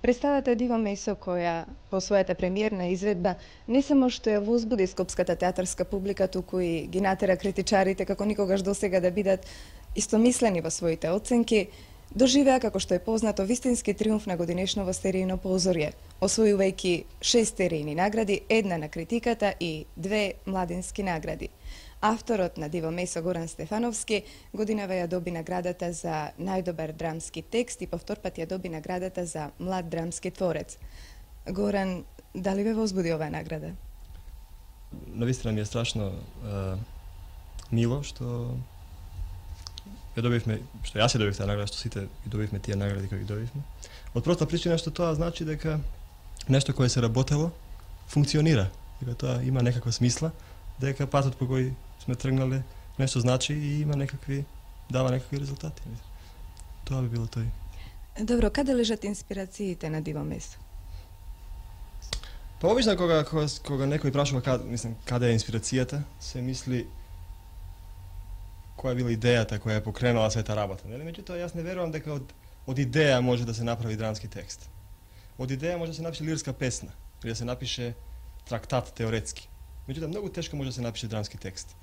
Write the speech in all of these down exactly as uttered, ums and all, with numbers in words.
Представата Диво месо, која по својата премиерна изведба не само што ја возбуди скопската театарска публика, туку и ги натера критичарите како никогаш досега да бидат истомислени во своите оценки, доживеа, како што е познато, вистински триумф на годинешново стеријно позорје, освојувајќи шест стеријни награди, една на критиката и две младински награди. Авторот на Диво месо Горан Стефановски годинава ја доби наградата за најдобар драмски текст и повтор пат ја доби наградата за млад драмски творец. Горан, дали ве возбуди оваа награда? Навистина ми е страшно е, мило што ја добивме, што јас ја добив таа награда, што сите ги добивме тие награди кои ги добивме. Од проста причина што тоа значи дека нешто кое се работело функционира, дека тоа има некаква смисла, дека патот по кој сме тргнале нешто значи и има некакви, дава некакви резултати. Тоа би било тој. Добро, каде лежат инспирациите на Диво месо? Па обично кога, кога, кога некој прашува каде, мислам, каде е инспирацијата, се мисли која била идејата која е покренала сета работа. Нели? Меѓутоа, јас не верувам дека од, од идеја може да се направи драмски текст. Од идеја може да се напише лирска песна, или да се напише трактат теоретски. Меѓутоа, многу тешко може да се напише драмски текст.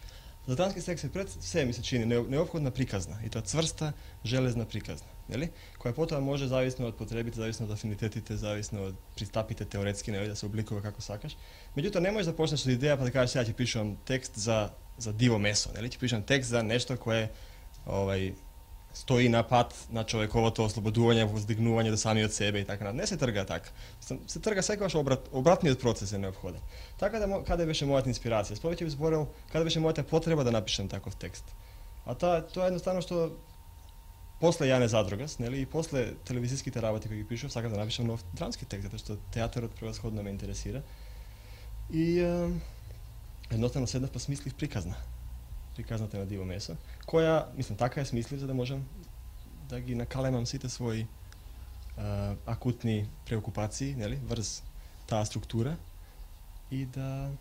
За драмски текст е пред се ми се чини неопходна приказна, и тоа цврста, железна приказна, нели? Која потоа може зависно од потребите, зависно од афинитетите, зависно од пристапите теоретски, нели, да се обликува како сакаш. Меѓутоа, не можеш да почнеш од идеја па да кажеш сега ќе пишувам текст за за диво месо, нели? Ќе пишувам текст за нешто кое овај стои на пат на човековото ослободување, воздигнување до самиот себе и така. Не се трга така. Се трга секогаш обрат, обратниот процес е неопходен. Така да каде беше мојата инспирација? Повеќе би зборел каде беше мојата потреба да напишам таков текст. А тоа тоа е едноставно што после Јане Задрогас, нели, и после телевизиските работи кои ги пишував, сакам да напишам нов драмски текст, затоа што театарот превасходно ме интересира. И е, едноставно седнав па смислив приказна. Приказната на Диво месо, која, мислам, така е смислив за да можам да ги накалемам сите своји а, акутни преокупации, нели, врз таа структура и да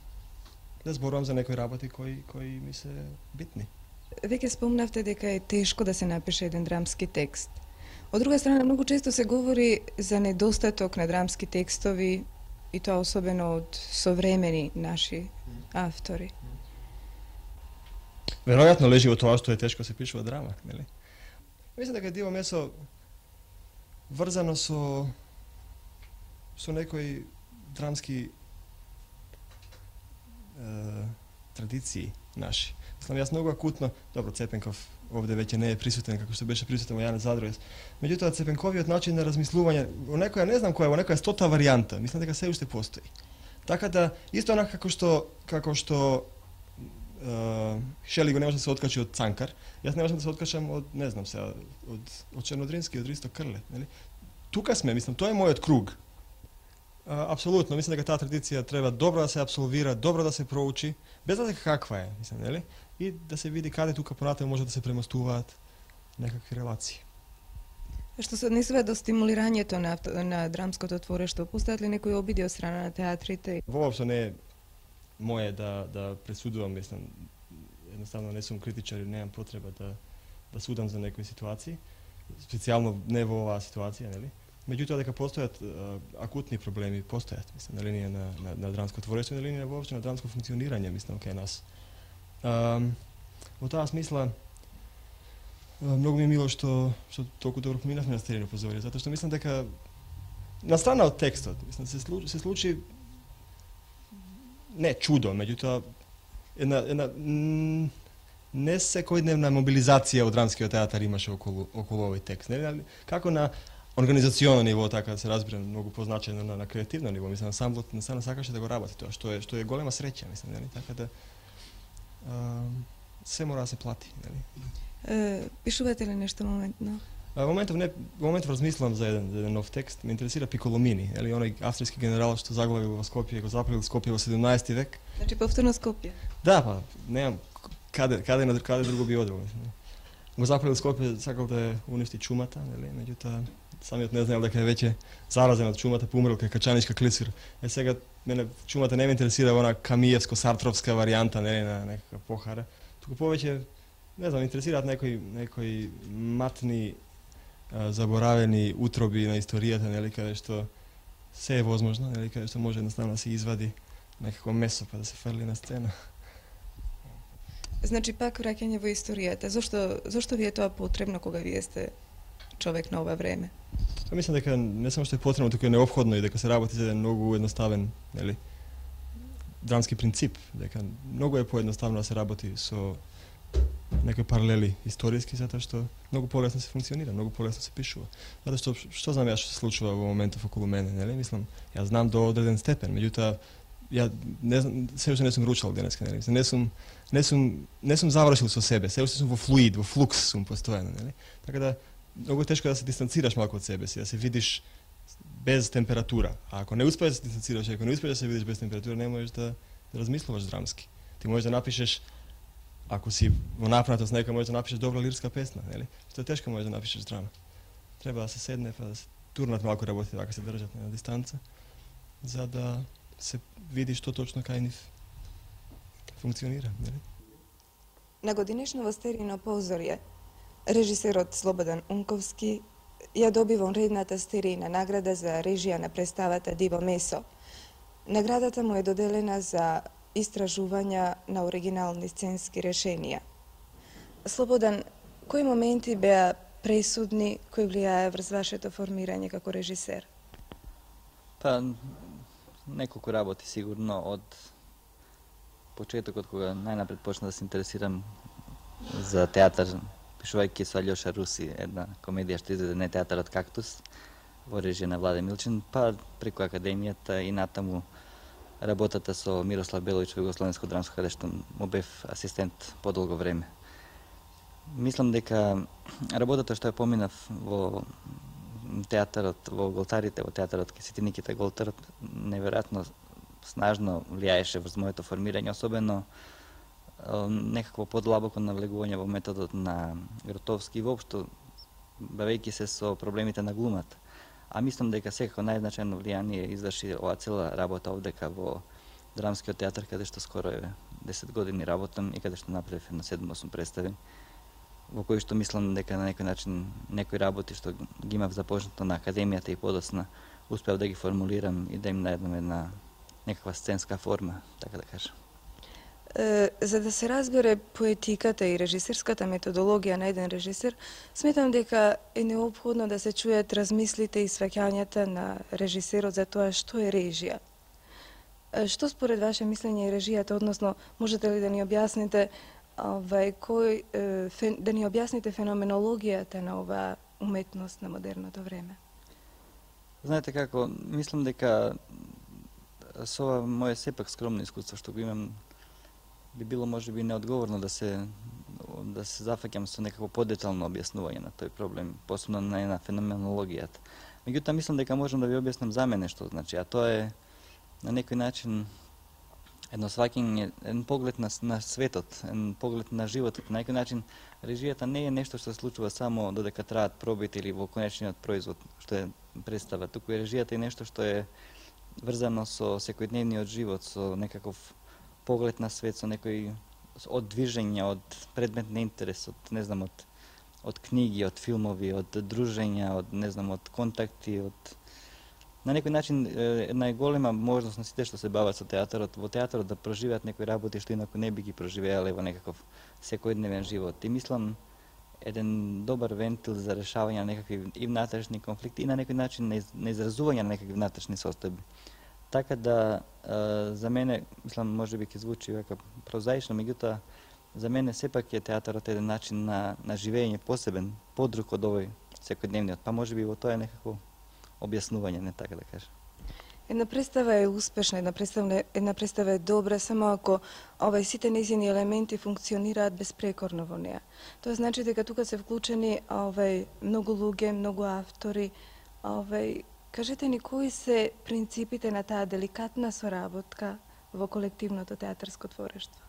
да зборувам за некои работи кои кои ми се битни. Веќе спомнавте дека е тешко да се напише еден драмски текст. Од друга страна, многу често се говори за недостаток на драмски текстови и тоа особено од современи наши автори. Веројатно лежи во тоа што е тешко се пишува драма, нели? Мислам дека Диво месо врзано со со некои драмски е, традиции наши. Мислам, јас многу акутно, добро, Цепенков овде веќе не е присутен како што беше присутен во Јане Задрогас. Меѓутоа, Цепенковиот начин на размислување, во некоја, не знам која, во некоја стота варијанта, мислам дека се уште постои. Така да, исто онака како што, како што Uh, Шели го не може да се откачи од Цанкар, јас не можам да се откачам од, не знам сега, од, од Чернодрински, од Ристо Крле, нели? Тука сме, мислам, тоа е мојот круг. Uh, апсолутно, мислам дека таа традиција треба добро да се апсолвира, добро да се проучи, без разлика каква е, мислам, нели? И да се види каде тука понатаму може да се премостуваат некакви релации. Што се однесува до стимулирањето на, на драмското творештво, постојат ли некои обиди од страна на театрите? Воопшто не е моје да да пресудувам, мислам, едноставно не сум критичар и немам потреба да да судам за некои ситуации, специјално не во оваа ситуација, нели? Меѓутоа дека постојат а, акутни проблеми, постојат, мислам, на линија на на, на драмско творештво, на линија воопшто на драмско функционирање, мислам, кај нас. А, во таа смисла а, многу ми е мило што што толку добро поминавме на стеријно позорје, затоа што мислам дека на страна од текстот, мислам, се случи, се случи не чудо, меѓутоа една една не секојдневна мобилизација од драмскиот театар имаше околу околу овој текст, нели? Како на организационо ниво, така да се разбира, многу позначено на, на креативно ниво, мислам, ансамблот не сакаше да го работи тоа, што е што е голема среќа, мислам, нели? Така да а, се мора да се плати, нели? Е, пишувате ли нешто моментно? Во моментов не, во моментов размислувам за еден, за еден нов текст. Ме интересира Пиколомини, или оној австријски генерал што заглавил во Скопје, го запалил Скопје во седумнаесети век. Значи повторно Скопје. Да, па, немам каде каде на каде друго би одрил. Го запалил Скопје, сакал да ја уништи чумата, нели? Меѓутоа самиот не знаел дека е веќе заразен од чумата, помрел кај Качаничка клисура. Е сега мене чумата не ме интересира она камиевско-сартровска варијанта, нели, на некаква похара. Туку повеќе, не знам, интересираат некои некои матни заборавени утроби на историјата, нели, каде што се е возможно, нели, каде што може едноставно да се извади некако месо па да се фрли на сцена. Значи пак враќање во историјата. Зошто зошто ви е тоа потребно кога вие сте човек на ова време? Па мислам дека не само што е потребно, туку е неопходно и дека се работи за еден многу едноставен, нели, драмски принцип, дека многу е поедноставно да се работи со некои паралели историски, затоа што многу полесно се функционира, многу полесно се пишува. Затоа што што знам јас што се случува во моментов околу мене, нели? Мислам, јас знам до одреден степен, меѓутоа ја не знам, се уште не сум ручал денеска, нели? Не сум не сум не сум завршил со себе, се уште сум во флуид, во флукс сум постојано, нели? Така да многу е тешко да се дистанцираш малку од себе си, да се видиш без температура. А ако не успееш да се дистанцираш, ако не успееш да се видиш без температура, не можеш да, да размислуваш драмски. Ти можеш да напишеш, ако си во напратост нека можеш да напишеш добра лирска песна, нели? Што е тешко можеш да напишеш драма. Треба да се седне па да се турнат малку работите, така се држат на дистанца, за да се види што точно кај нив функционира, нели? На годинешно во Стерино позорје режисерот Слободан Унковски ја добива онредната Стерина награда за режија на представата Диво месо. Наградата му е доделена за истражувања на оригинални сценски решенија. Слободан, кои моменти беа пресудни кои влијае врз вашето формирање како режисер? Па, неколку работи сигурно од почетокот кога најнапред почна да се интересирам за театар, пишувајќи со Алјоша Руси една комедија што изеде не театарот Кактус во режија на Владе Милчин, па преку академијата и натаму работата со Мирослав Беловиќ во Југословенско драмско, каде што му бев асистент подолго време. Мислам дека работата што ја поминав во театарот, во Голтарите, во театарот ке Свети Никита Голтарот, неверојатно снажно влијаеше врз моето формирање, особено некакво подлабоко навлегување во методот на Гротовски и воопшто бавејќи се со проблемите на глумата. А мислам дека секако најзначајно влијание изврши оваа цела работа овдека во Драмскиот театар, каде што скоро е десет години работам и каде што направив на седум-осум представи, во кои што мислам дека на некој начин некои работи што ги имав започнато на академијата и подоцна успеав да ги формулирам и да им најдам една некаква сценска форма, така да кажам. За да се разбере поетиката и режисерската методологија на еден режисер, сметам дека е неопходно да се чујат размислите и сваќањата на режисерот за тоа што е режија. Што според ваше мислење е режијата, односно можете ли да ни објасните овај кој да ни објасните феноменологијата на оваа уметност на модерното време? Знаете како, мислам дека со ова мое сепак скромно искуство што го имам, би било можеби неодговорно да се да се зафаќам со некакво подетално објаснување на тој проблем, посебно на една феноменологијата. Меѓутоа мислам дека можам да ви објаснам за мене што значи, а тоа е на некој начин едно сваќање, еден поглед на, на светот, еден поглед на животот. На некој начин режијата не е нешто што се случува само додека траат пробите или во конечниот производ што е представа, туку е режијата и нешто што е врзано со секојдневниот живот, со некаков поглед на свет, со некој од движење, од предмет на интерес, од не знам, од од книги, од филмови, од дружења, од не знам, од контакти, од на некој начин една е голема можност на сите што се бават со театарот, во театарот да проживеат некои работи што инаку не би ги проживеале во некаков секојдневен живот. И мислам еден добар вентил за решавање на некакви и внатрешни конфликти и на некој начин на изразување на некакви внатрешни состојби. Така да, за мене, мислам, може би ќе звучи вака прозаично, меѓутоа, за мене сепак е театарот еден начин на, на живење посебен, подруг од овој секојдневниот, па може би во тоа е некакво објаснување, не така да кажам. Една представа е успешна, една представа, една представа е добра само ако овај сите нејзини елементи функционираат безпрекорно во неа. Тоа значи дека тука се вклучени овај многу луѓе, многу автори. Овај, кажете ни кои се принципите на таа деликатна соработка во колективното театарско творештво?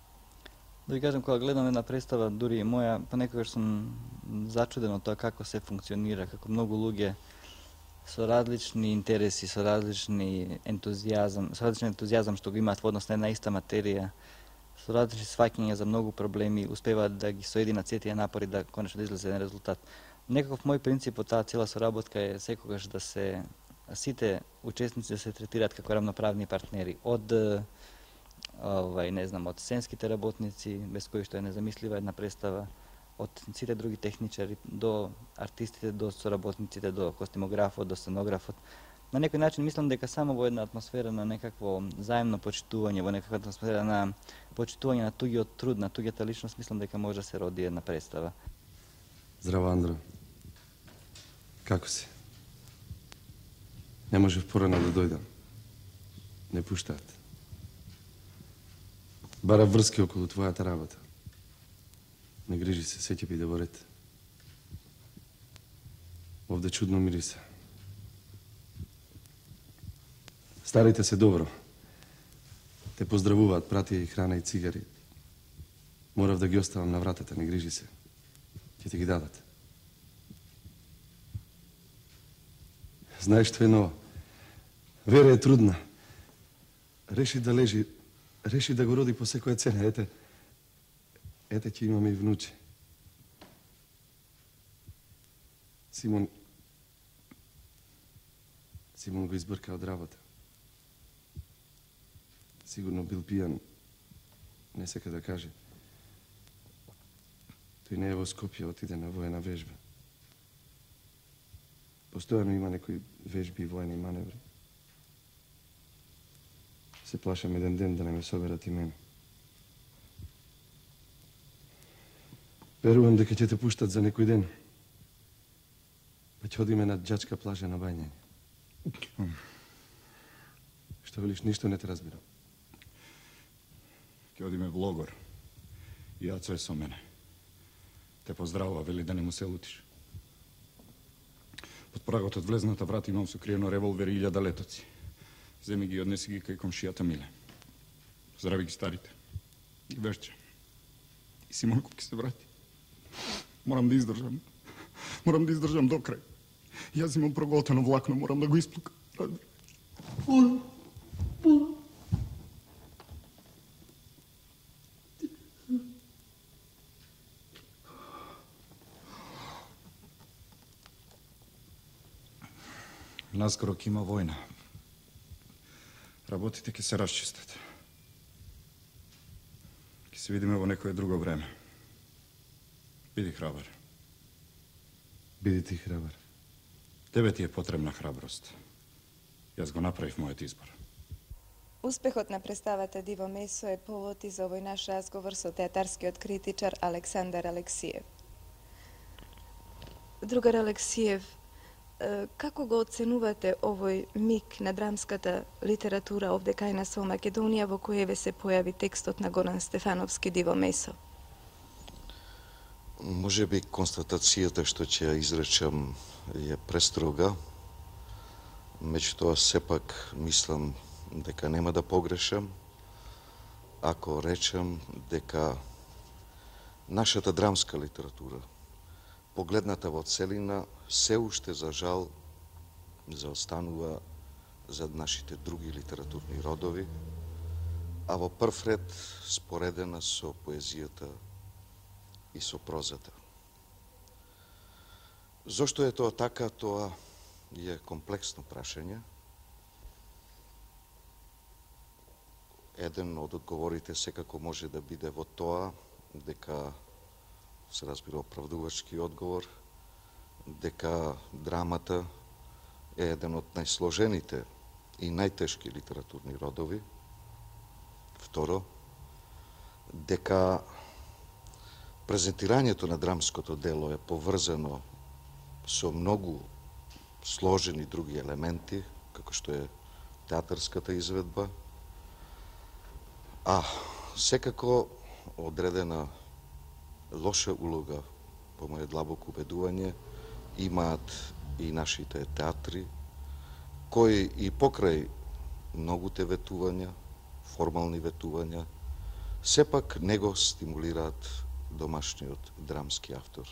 Да ви кажам, кога гледам една представа, дури и моја, понекогаш сум зачуден од тоа како се функционира, како многу луѓе со различни интереси, со различни ентузијазам, со различен ентузијазам што го имаат во однос на една иста материја, со различни сваќања за многу проблеми, успеваат да ги соединат сите тие напори да конечно да излезе еден резултат. Некаков мој принцип од таа цела соработка е секогаш да се сите учесници да се третираат како рамноправни партнери, од овај, не знам, од сценските работници, без кои што е незамислива една представа, од сите други техничари, до артистите, до соработниците, до костимографот, до сценографот. На некој начин мислам дека само во една атмосфера на некакво заемно почитување, во некаква атмосфера на почитување на туѓиот труд, на туѓата личност, мислам дека може да се роди една представа. Здраво, Андро. Како си? Не можев порано да дојдам. Не пуштаат. Бара врски околу твојата работа. Не грижи се, се ќе биде во ред. Овде чудно мириса. Старите се добро. Те поздравуваат, пратија и храна и цигари. Морав да ги оставам на вратата, не грижи се. Ќе ти ги дадат. Знаеш што е ново? Вера е трудна. Реши да лежи, реши да го роди по секоја цена. Ете, ете ќе имаме и внуче. Симон... Симон го избрка од работа. Сигурно бил пијан. Не сека да каже. Тој не е во Скопје, отиде на воена вежба. Постојано има некои вежби и воени маневри. Се плашам еден ден да не ме соберат и мене. Верувам дека ќе те пуштат за некој ден. Па ќе одиме на џачка плажа на бањање. Што велиш, ништо не те разбирам. Ќе одиме в логор. И Ацо е со мене. Те поздравува, вели да не му се лутиш. Под прагот од влезната врата имам сокриено револвер и илјада летоци. Земи ги и однеси ги кај комшијата Миле. Здрави ги старите. И Верче. И Симонко ќе се врати. Морам да издржам. Морам да издржам до крај. Јас имам проголтено влакно, морам да го исплукам. Пола, пола. Наскоро ќе има војна. Работите ќе се расчистат. Ќе се видиме во некое друго време. Биди храбар. Биди ти храбар. Тебе ти е потребна храброст. Јас го направив мојот избор. Успехот на представата Диво месо е повод и за овој наш разговор со театарскиот критичар Александар Алексиев. Другар Алексиев, како го оценувате овој миг на драмската литература овде кај нас во Македонија, во кој се појави текстот на Горан Стефановски Диво месо? Може би констатацијата што ќе ја изречам е престрога, меѓутоа сепак мислам дека нема да погрешам ако речам дека нашата драмска литература, погледната во целина, се уште за жал заостанува зад нашите други литературни родови, а во прв ред споредена со поезијата и со прозата. Зошто е тоа така, тоа е комплексно прашање. Еден од одговорите секако може да биде во тоа дека се разбира оправдувачки одговор, дека драмата е еден од најсложените и најтешки литературни родови. Второ, дека презентирањето на драмското дело е поврзано со многу сложени други елементи, како што е театарската изведба, а секако одредена лоша улога, по моје длабоко убедување, имаат и нашите театри, кои и покрај многуте ветувања, формални ветувања, сепак не го стимулираат домашниот драмски автор.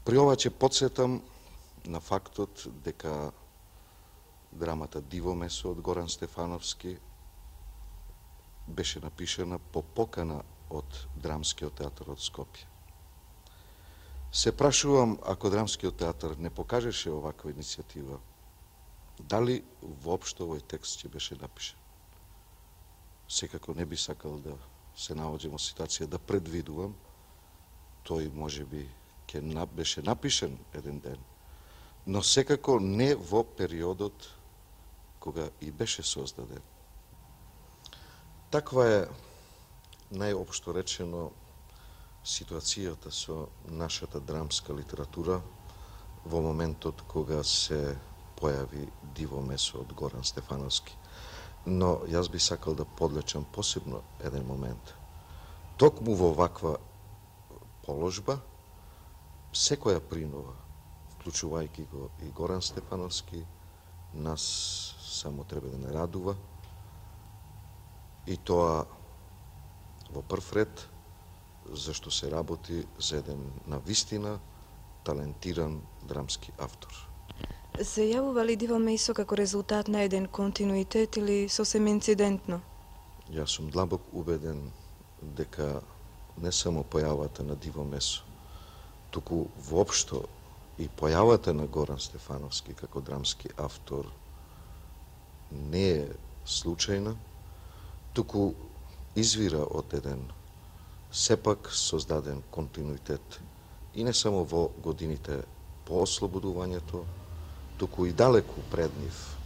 При ова ќе потсетам на фактот дека драмата Диво месо од Горан Стефановски беше напишана по покана од Драмскиот театар од Скопје. Се прашувам, ако Драмскиот театар не покажеше оваква иницијатива, дали воопшто овој текст ќе беше напишан? Секако не би сакал да се наоѓам во ситуација да предвидувам, тој можеби ќе беше напишан еден ден, но секако не во периодот кога и беше создаден. Таква е, најопшто речено, ситуацијата со нашата драмска литература во моментот кога се појави Диво месо од Горан Стефановски. Но јас би сакал да подлечам посебно еден момент. Токму во ваква положба, секоја принова, вклучувајќи го и Горан Стефановски, нас само треба да не радува, и тоа во прв ред, зашто се работи за еден навистина талентиран драмски автор. Се јавува ли Диво месо како резултат на еден континуитет или сосем инцидентно? Јас сум длабок убеден дека не само појавата на Диво месо, туку воопшто и појавата на Горан Стефановски како драмски автор не е случајна, туку извира од еден сепак создаден континуитет и не само во годините по ослободувањето, туку и далеку пред нив.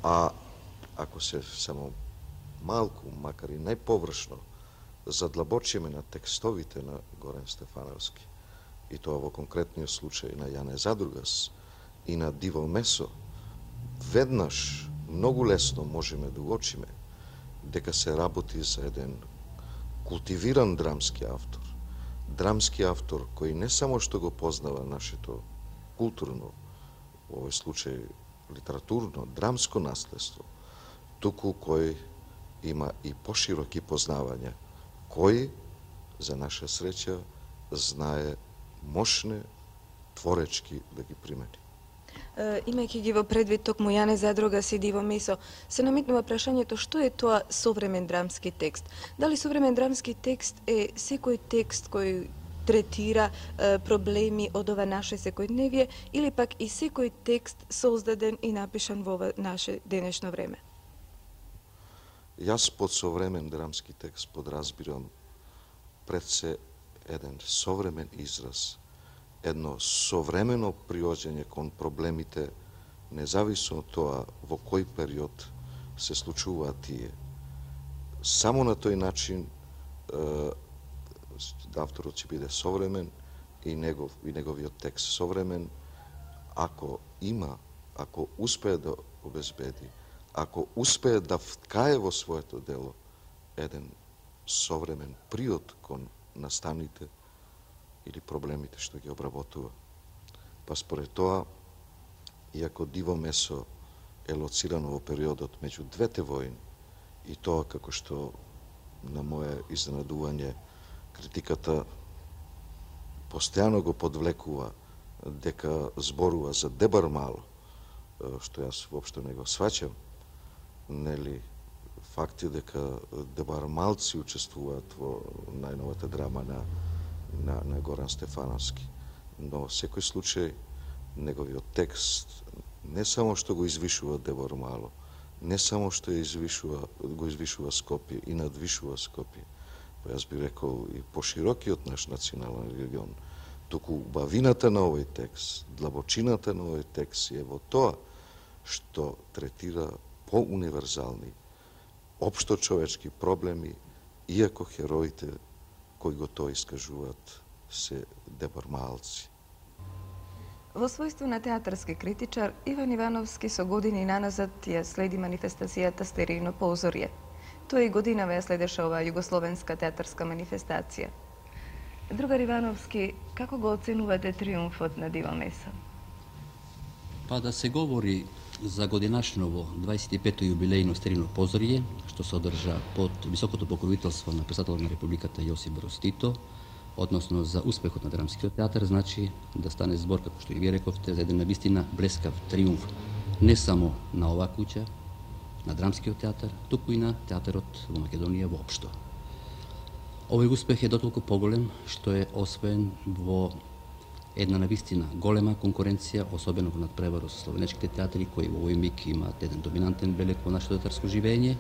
А ако се само малку, макар и најповршно, задлабочиме на текстовите на Горан Стефановски, и тоа во конкретниот случај на Јане Задругас и на Диво месо, веднаш многу лесно можеме да уочиме дека се работи за еден култивиран драмски автор, драмски автор кој не само што го познава нашето културно, во овој случај литературно, драмско наследство, туку кој има и пошироки познавања, кој, за наша среќа, знае мощне творечки да ги примени. Имајќи ги во предвид токму Јане Задругас и Диво месо, се намитнува прашањето што е тоа современ драмски текст. Дали современ драмски текст е секој текст кој третира е, проблеми од ова наше секојдневие или пак и секој текст создаден и напишан во ова наше денешно време? Јас под современ драмски текст подразбирам пред се еден современ израз, едно современо приоѓање кон проблемите, независно од тоа во кој период се случуваат тие. Само на тој начин е, авторот ќе биде современ и, негов, и неговиот текст современ, ако има, ако успее да обезбеди, ако успее да вткае во своето дело еден современ приод кон настаните или проблемите што ги обработува. Па според тоа, иако Диво месо е лоцирано во периодот меѓу двете војни, и тоа како што на моје изненадување критиката постојано го подвлекува дека зборува за Дебар мало, што јас воопшто не го сваќам, нели, факт е дека Дебар малци учествуваат во најновата драма на На, на Горан Стефановски. Но во секој случај неговиот текст не само што го извишува Дебор мало, не само што извишува, го извишува Скопје и надвишува Скопје, па јас би рекол и поширокиот наш национален регион, туку убавината на овој текст, длабочината на овој текст е во тоа што третира поуниверзални, општо човечки проблеми, иако хероите кои го тоа искажуваат се дебармалци. Во својство на театарски критичар, Иван Ивановски со години наназад ја следи манифестацијата Стерејно позорје. Тој и годинава ја следеше оваа југословенска театарска манифестација. Другар Ивановски, како го оценувате триумфот на Диво Месо? Па да се говори за годинашново дваесет и пето јубилејно Стерејно позорје, што се одржа под високото покровителство на председателот на Републиката Јосип Броз Тито, односно за успехот на драмскиот театар, значи да стане збор, како што и ви рековте, за еден навистина блескав триумф не само на оваа куќа, на драмскиот театар, туку и на театарот во Македонија воопшто. Овој успех е дотолку поголем што е освоен во една навистина голема конкуренција, особено во надпреварот со словенечките театри, кои во овој миг имаат еден доминантен белег во нашето театарско живење,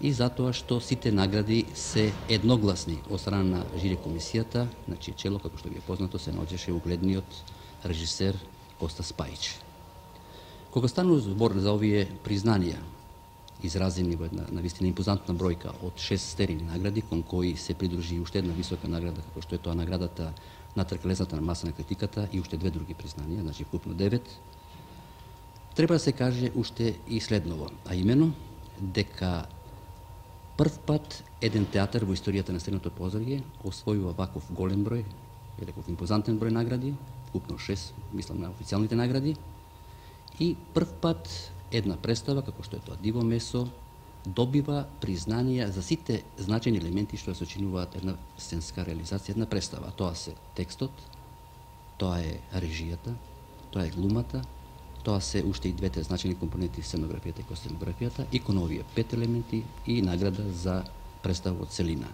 и затоа што сите награди се едногласни од страна на жири комисијата, на чие чело, како што ви е познато, се наоѓаше угледниот режисер Коста Спајич. Кога станува збор за овие признанија, изразени во една навистина импозантна бројка од шест стерени награди, кон кои се придружи уште една висока награда, како што е тоа наградата на тркалезната на маса на критиката и уште две други признанија, значи вкупно девет, треба да се каже уште и следново, а имено дека прв пат еден театар во историјата на Стерејното позорје освојува ваков голем број, реков импозантен број награди, вкупно шест, мислам на официјалните награди, и прв пат една представа, како што е тоа Диво Месо, добива признанија за сите значајни елементи што се сочинуваат една сценска реализација, една представа. Тоа се текстот, тоа е режијата, тоа е глумата, тоа се уште и двете значајни компоненти, сценографијата и костюмографијата, и кон овие пет елементи и награда за представа во целина.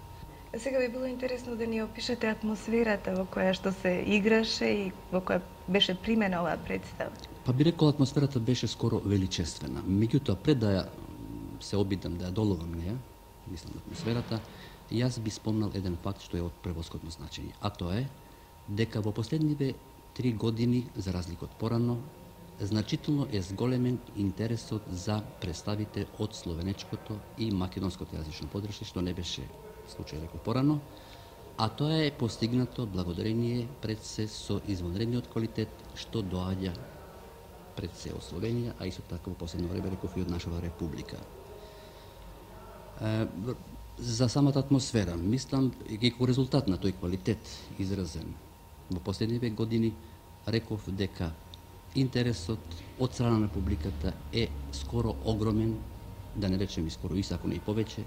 Сега би било интересно да ни опишете атмосферата во која што се играше и во која беше примена оваа представа. Па би рекол, атмосферата беше скоро величествена. Меѓутоа, пред да ја се обидам да ја доловам неја, мислам на атмосферата, јас би спомнал еден факт што е од превосходно значење, а тоа е дека во последниве три години, за разлика од порано, значително е зголемен интересот за представите од словенечкото и македонското јазично подрачје, што не беше случај рекол порано, а тоа е постигнато благодарение пред се со извонредниот квалитет што доаѓа пред се од Словенија, а исто така во последно време реков и од нашава република. За самата атмосфера, мислам, и како резултат на тој квалитет изразен во последниве години, реков дека интересот од страна на публиката е скоро огромен, да не речем и скоро ист, ако не и повеќе,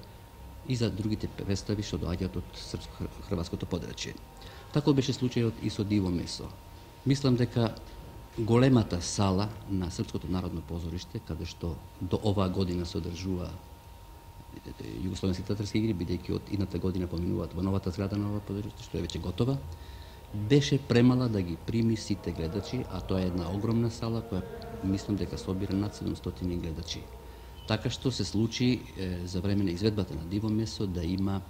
и за другите представи што доаѓаат од српско-хрватското подрачје. Тако беше случајот и со Диво Месо. Мислам дека големата сала на Српското народно позориште, каде што до оваа година се одржува југословенски театарски игри, бидејќи од идната година поминуваат во новата зграда на оваа позориште, што е веќе готова, беше премала да ги прими сите гледачи, а тоа е една огромна сала која мислам дека собира над седумстотини гледачи. Така што се случи е, за време на изведбата на Диво Месо да има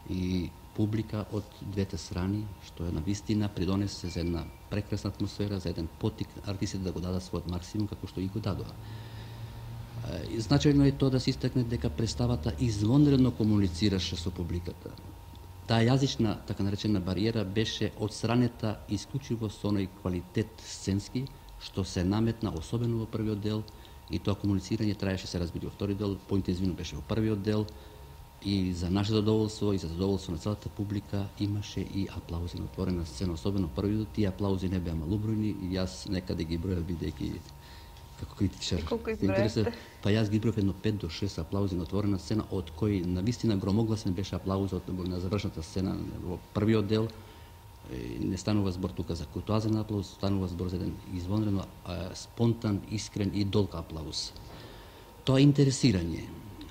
и публика од двете страни, што е на вистина придонесе за една прекрасна атмосфера, за еден потик артистите да го дадат својот максимум како што и го дадоа. Значајно е тоа да се истакне дека представата извонредно комуницираше со публиката. Таа јазична, така наречена бариера, беше одстранета исклучиво со оној квалитет сценски, што се наметна особено во првиот дел, и тоа комуницирање траеше се разбира во втори дел, поинтензивно беше во првиот дел, и за наше задоволство и за задоволство на целата публика имаше и аплаузи на отворена сцена, особено првиот. Тие аплаузи не беа малубројни, и јас некаде ги бројав бидејќи како критичар. Колку избројавте? Па јас ги бројав едно пет до шест аплаузи на отворена сцена, од кои навистина громогласен беше аплаузот на завршната сцена во првиот дел. Не станува збор тука за куртуазен аплауз, станува збор за еден извонредно спонтан, искрен и долг аплауз. Тоа интересирање,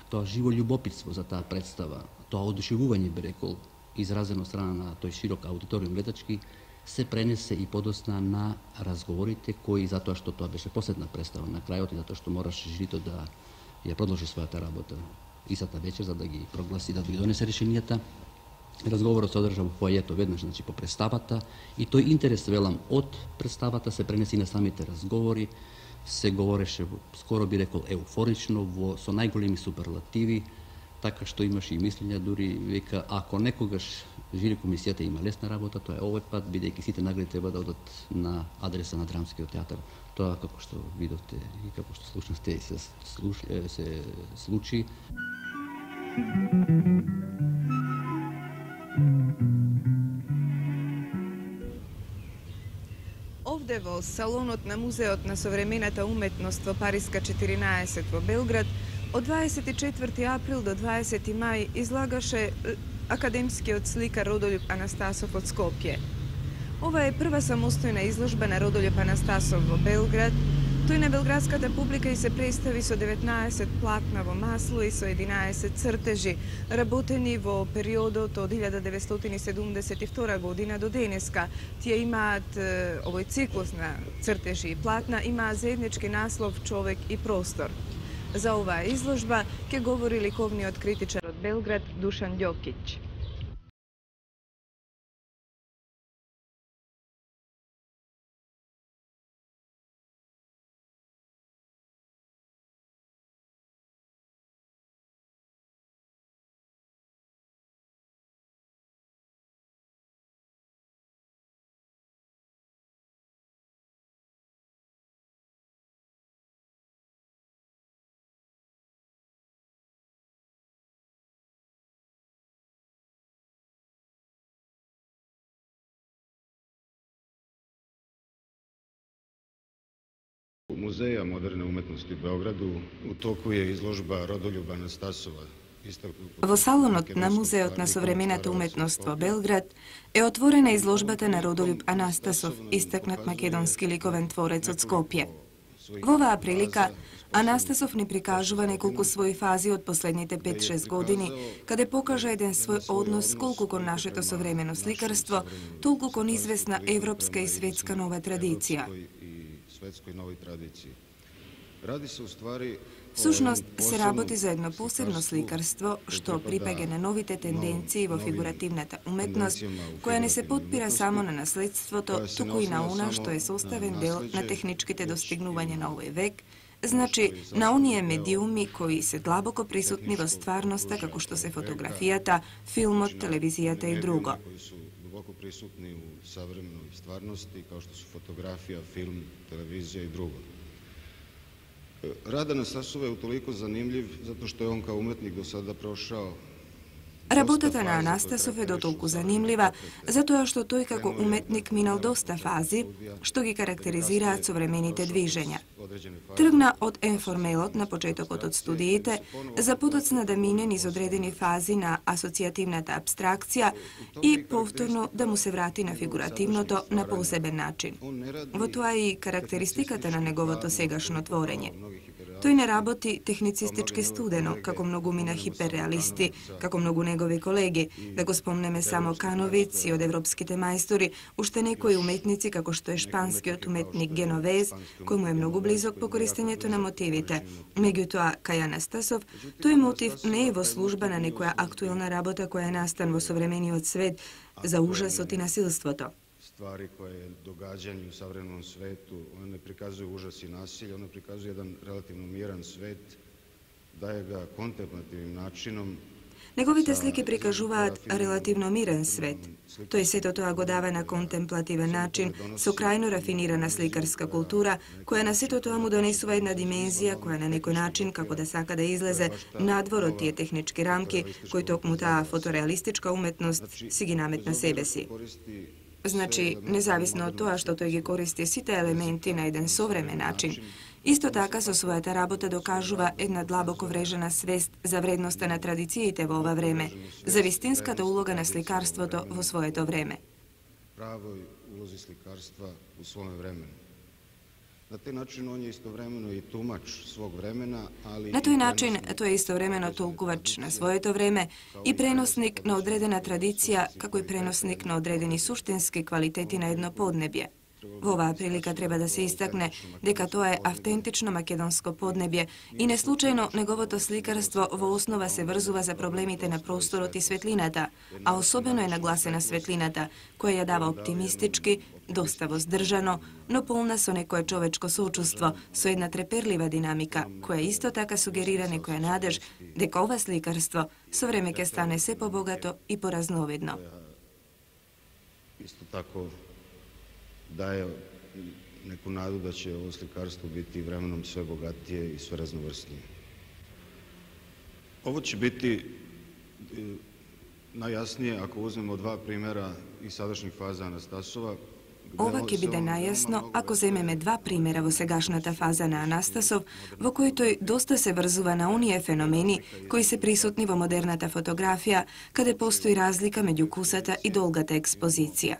тоа живо љубопитство за таа представа, тоа одушевување, би рекол, изразено од страна на тој широк аудиториум гледачки, се пренесе и подосна на разговорите кои, затоа што тоа беше последна представа на крајот и затоа што мораше жирито да ја продолжи својата работа истата вечер за да ги прогласи, да ги донесе решенијата. Разговорот се одржа во фоајето веднаш, значи по представата, и тој интерес, велам, од представата се пренеси на самите разговори, се говореше, скоро би рекол, еуфорично, во, со најголеми суперлативи, така што имаше и мислења, дури века, ако некогаш жири комисијата има лесна работа, тоа е овој пат, бидејќи сите награди треба да одат на адреса на Драмскиот театар. Тоа, како што видовте и како што слушнавте, се, слуш... се случи. Овде во салонот на Музеот на современата уметност во Париска четиринаесет во Белград од дваесет и четврти април до дваесети мај излагаше академскиот сликар Родолјуб Анастасов од Скопје. Ова е прва самостојна изложба на Родолјуб Анастасов во Белград. Тој на белградската публика и се представи со деветнаесет платна во масло и со единаесет цртежи, работени во периодот од илјада деветстотини и седумдесет и втора година до денеска. Тие имаат, овој циклус на цртежи и платна, имаат заеднички наслов «Човек и простор». За оваа изложба ќе говори ликовниот критичар од Белград Душан Ѓокиќ. У Музеја модерне уметности у Белграду у току е изложба Родолјуба Анастасова. Во салонот на Музеот на современата уметност во Белград е отворена изложбата на Родолјуб Анастасов, истакнат македонски ликовен творец од Скопје. Во оваа прилика Анастасов ни прикажува неколку своји фази од последните пет-шест години, каде покажа еден свој однос колку кон нашето современо сликарство, толку кон известна европска и светска нова традиција. Светској новој традиции. Ради се уствари Всушност се работи за едно посебно сликарство што припаѓа на новите тенденции во фигуративната уметност, која не се подпира само на наследството, туку и на она што е составен дел на техничките достигнувања на овој век, значи на оние медиуми кои се длабоко присутни во стварноста, како што се фотографијата, филмот, телевизијата и друго. Длабоко присутни у современој стварности, као што се фотографија, филм, телевизија и друго. Рад Анастасов е утолико занимљив затоа што е он као уметник до сада прошао. Работата на Анастасов е дотолку занимлива, затоа што тој како уметник минал доста фази, што ги карактеризираат современите движења. Тргна од енформелот на почетокот од студиите, за подоцна да мине низ одредени фази на асоцијативната абстракција и повторно да му се врати на фигуративното на посебен начин. Во тоа е и карактеристиката на неговото сегашно творење. Тој не работи техницистички студено, како многумина хиперреалисти, како многу негови колеги, да го спомнеме само Кановиц и од европските мајстори, уште некои уметници како што е шпанскиот уметник Геновез, кој му е многу близок по користењето на мотивите. Меѓутоа, кај Анастасов, тој мотив не е во служба на некоја актуелна работа која е настан во современиот свет за ужасот и насилството. Ствари кои догаѓања у современом свету, он не приказува ужас и насилје, он приказува еден релативно мирен свет, даje ga контемплативnim начином. Неговите слики прикажуваат релативно мирен свет. Тој сето тоа го дава на контемплативен начин, со крајно рафинирана сликарска култура, која на сето тоа му донесува една димензија која на некој начин, како да сака да излезе надвор од тие технички рамки, кои токму таа фотореалистичка уметност си ги наметна себе си. Значи, независно од тоа што тој ги користи сите елементи на еден современ начин, исто така со својата работа докажува една длабоко врежена свест за вредноста на традициите во ова време, за вистинската улога на сликарството во своето време. Правој улози сликарства у своје време. На тој начин он е истовремено и тумач свог времена, али На тој начин тој е истовремено толкувач на своето време и преносник на одредена традиција, како и преносник на одредени суштински квалитети на едно поднебје. Во оваа прилика треба да се истакне дека тоа е автентично македонско поднебје и не случајно неговото сликарство во основа се врзува за проблемите на просторот и светлината, а особено е нагласена светлината, која ја дава оптимистички, доста воздржано, но полна со некое човечко соучуство, со една треперлива динамика, која исто така сугерира некоја надеж дека ова сликарство со време ќе стане се побогато и поразновидно. isto tako daje neku nadu da će ovo slikarstvo biti vremenom sve bogatije i sve raznovrsnije. Ovo će biti najjasnije ako uzmemo dva primjera iz sadašnjih faza Anastasova. Ова ќе биде најасно ако земеме два примера во сегашната фаза на Анастасов, во кој тој доста се врзува на оние феномени кои се присутни во модерната фотографија, каде постои разлика меѓу кусата и долгата експозиција.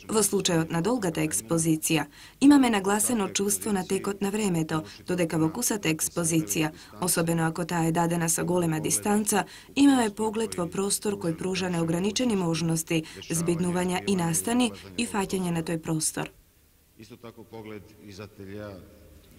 Во случајот на долгата експозиција, имаме нагласено чувство на текот на времето, додека во кусата експозиција, особено ако таа е дадена со голема дистанца, имаме поглед во простор кој пружа неограничени можности, збиднувања и настани и фаќање на тој простор. Исто тако поглед из ателјеа.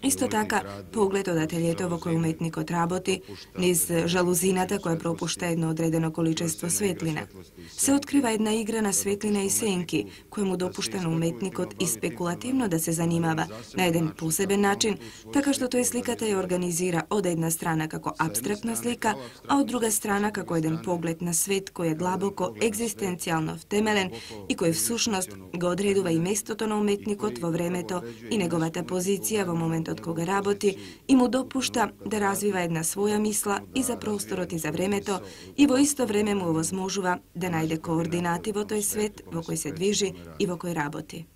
Исто така, поглед од ателјето во кој уметникот работи, низ жалузината која пропушта едно одредено количество светлина. Се открива една игра на светлина и сенки, која му допушта на уметникот и спекулативно да се занимава на еден посебен начин, така што тој сликата ја организира од една страна како апстрактна слика, а од друга страна како еден поглед на свет кој е длабоко екзистенцијално втемелен и кој всушност го одредува и местото на уметникот во времето и неговата позиција во моментот кога работи и му допушта да развива една своја мисла и за просторот и за времето и во исто време му овозможува да најде координати во тој свет во кој се движи и во кој работи.